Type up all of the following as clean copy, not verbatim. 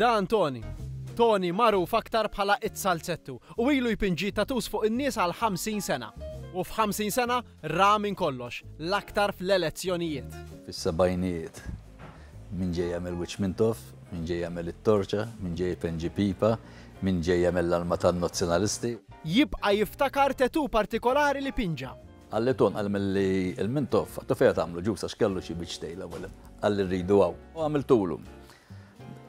Dan Tony. Tony magħruf aktar bħala it-Salzettu u ilu jpinġi tattoos fuq in-nies għal 50 sena. U f'50 sena ra minn kollox, l-aktar fl-elezzjonijiet. Fis-sebgħinijiet. Min ġej jagħmel wiċċ Mintoff, min ġej jagħmel it-torċa, min ġej jpenġi pipa, min ġej jagħmel l-alma tan-Nazzjonalisti. Jibqa' jiftakar tattoo partikolari li pinġa. Qalli Ton, qal milli il-Mintoff, għattu fejn tagħmlu ġus għax kellu xi biċ tejla wara. Qalli rridu hawn. U għamiltulu.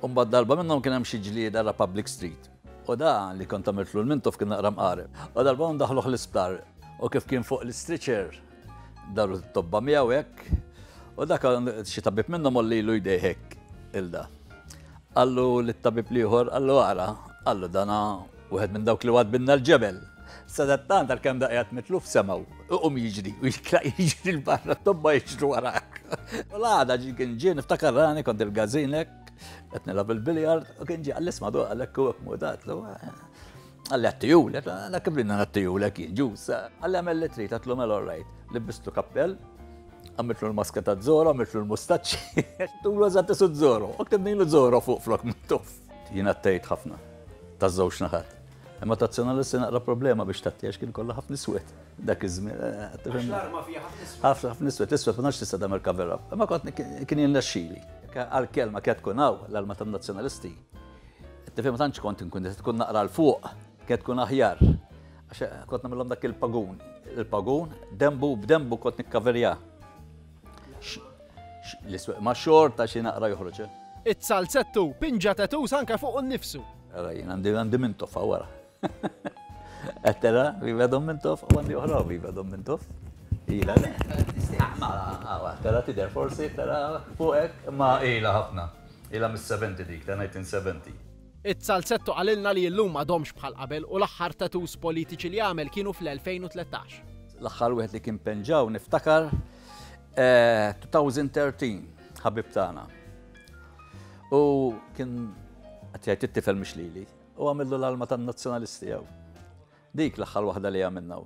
U mbagħad darba minnhom kien hemm xi ġlieda Republic Street. U da li kont għamiltlu l-Mintoff kien naqra mqareb. U darba hawn daħluh l-isptar. U kif kien fuq l-istretcher daru t-tobba miegħu hekk. U dak xi tabib minnhom għollilu jdejh hekk il-da. Qallu lit-tabib l-ieħor, qallu ara, qallu dana wieħed minn dawk li wadbinna l-ġebel. Sadattant għalkemm da qiegħed mitluf semgħu, iqum jiġri u jitlaq jiġri l-barra t-tobba jiġru warak. U l-għada ġi kien ġie niftakar rani kont il-gazin hekk, qed nilgħab il-biljard u kien ġie qalli isma' du qalek u hekk mudatlu. Qalli għattijulek, għala kif rinna għattijulek jien ġus. Qalli għamel li trid, għatlu mela all right. Libbistlu kappell, għamiltlu l-maska ta' Zoro, għamiltlu l-mustaċċi, tulu eżatt isu Zoro, u ktibnilu Zoro fuq flok Mintoff. Jien għattejt ħafna, ta' żewġ naħat. Imma tazzjonalisti naqra problema biex tatti għax kien kollha ħafna iswed dak iż-żmien. L-arma fiha ħafna iswed. Ħafna ħafna iswed, iswed ma tantx tista' tagħmel cover up. Imma kont kien jirnexxili. Għall-kelma kienet tkun hawn l-arma tan-nazzjonalisti. Tifhem ma tantx kont inkun tkun naqra 'l fuq, kienet tkun aħjar. Għax kont nagħmilhom dak il-pagun. Il-pagun, dembu b'dembu kont nikkaverja. L-isweq ma' xorta xi naqra joħroġ. Eh? It-salzettu pinġa tattoos anke fuq nnifsu. Ara jien għandi għandi Mintoff wara. Qed tara viva Dom Mintoff u għandi oħra viva Dom Mintoff. Ila le. Ma tara tidher forsi tara fuqek ma ila ħafna. Ilha mis-70 dik, ta' 1970. It-Salzetto qalilna li illum m'għadhomx bħal qabel u l-aħħar tattoos politiċi li għamel kienu fl-2013. L-aħħar wieħed li kien penġaw niftakar 2013, ħabib tagħna. U kien qed jgħid it-tifel mhux lili, u għamillu l-alma tan-nazzjonalisti jew. Dik l-aħħar waħda li għamilna.